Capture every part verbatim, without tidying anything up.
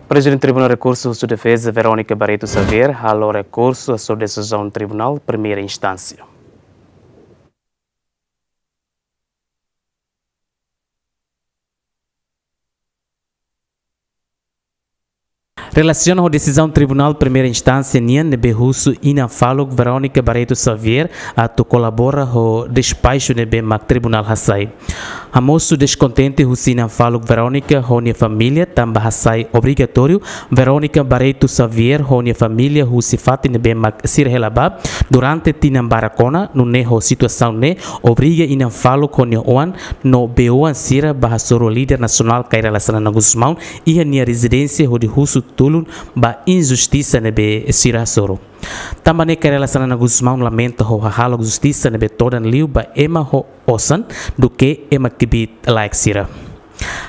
Prezidente Tribunál Rekursu husu defeza Verónica Barreto Xavier halo rekursu hasoru desizaun Tribunál Primeira Instánsia. Relasiona ho desizaun Tribunál Primeira Instánsia nian ne'ebé husu inan faluk Verónica Barreto Xavier atu kolabora ho despaxu ne'ebé mak Tribunál hasai. Hamosu deskontente husi inan faluk Verónica ho nia família tanba hasai obrigatóriu Verónica Barreto Xavier ho nia família husi fatin ne'ebé mak sira hela ba durante tinan barak ona, nune'e ho situasaun ne'e obriga inan faluk ho nia oan no bei-oan sira ba hasoru líder nasionál Kay Rala Xanana Gusmão iha nia rezidénsia hodi husu tulun ba injustisa ne'ebé sira hasoru. Tanba ne'e Kay Rala Xanana Gusmão lamenta ho hahalok justisa ne'ebé todan liu ba ema ho osan duké ema kbiit-laek sira.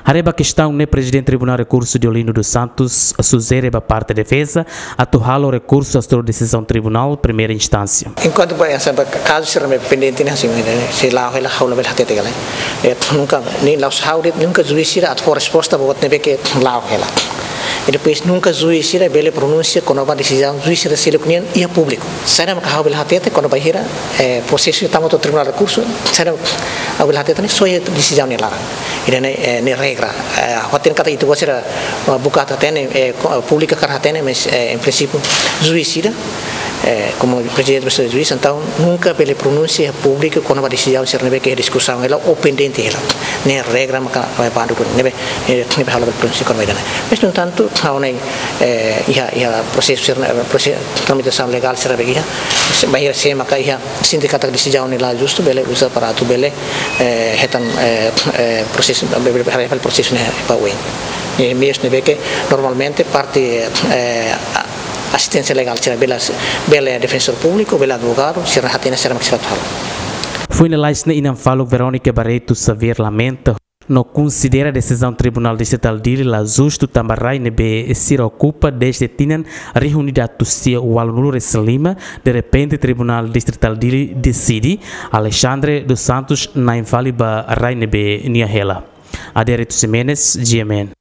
Haree ba kestaun ne'e Prezidente Tribunál Rekursu Deolino dos Santos sujere ba parte defeza atu halo rekursu hasoru desizaun Tribunál Primeira Instánsia. Enkuantu ba, eh, kazu sira ne'ebé pendente ne'e, hanesan ne'e, sei la'o hela, ha'u labele hatete ka lae. Eh, nunka, nia la'ós ha'u de'it, nunka juís sira atu fó resposta ba buat ne'ebé ke la'o hela. I depois nunka juís sira bele pronunsia kona-ba desizaun juís sira seluk nian iha públiku. Saida mak ha'u bele hatete kona-ba hira, eh, prosesu tama to'o Tribunál Rekursu, saida mak ha'u bele hatete ne'e só iha desizaun nia laran. Ida-ne'e, eh, ne'e regra. Eh, ha'u hatene katak ita-boot sira, eh, buka atu hatene, eh, ko-, eh, públiku hakarak hatene, mas, eh, em princípio, juís sira, eh, komu prezidente ba juís, entaun nunka bele pronunsia públiku kona-ba desizaun sira ne'ebé ke diskusaun hela ou pendente hela. Ne'e regra maka, eh, bandu ne'ebé, eh, ne'ebé ha'u labele pronunsia kona-ba ida-ne'e. Mas, no entantu, ha'u ne'e, eh, iha, iha prosesu sira, eh, prosesu tramitasaun legál sira be iha, se, ba iha se maka iha sente katak desizaun ne'e la justu, bele uza para atu bele, eh, hetan, eh, eh, prosesu, bele, bele, bele prosesu ne'e ba oin. Eh, meius ne'ebé ke normalmente parte, eh, a-, asisténsia legál sira bele, bele defensór públiku, bele advogadu, sira hatene sira mak sira atu halo. Foin lalais ne'e inan faluk Verónica Barreto Xavier lamenta no konsidera desizaun Tribunál Distritál Dili la justu tanba rai ne'ebé sira okupa dezde tinan rihun ida atus sia ualunulu resin lima, derrepente Tribunál Distritál Dili deside Alexandre dos Santos na'in fali ba rai ne'ebé nia hela. Adérito Ximenes, G M N.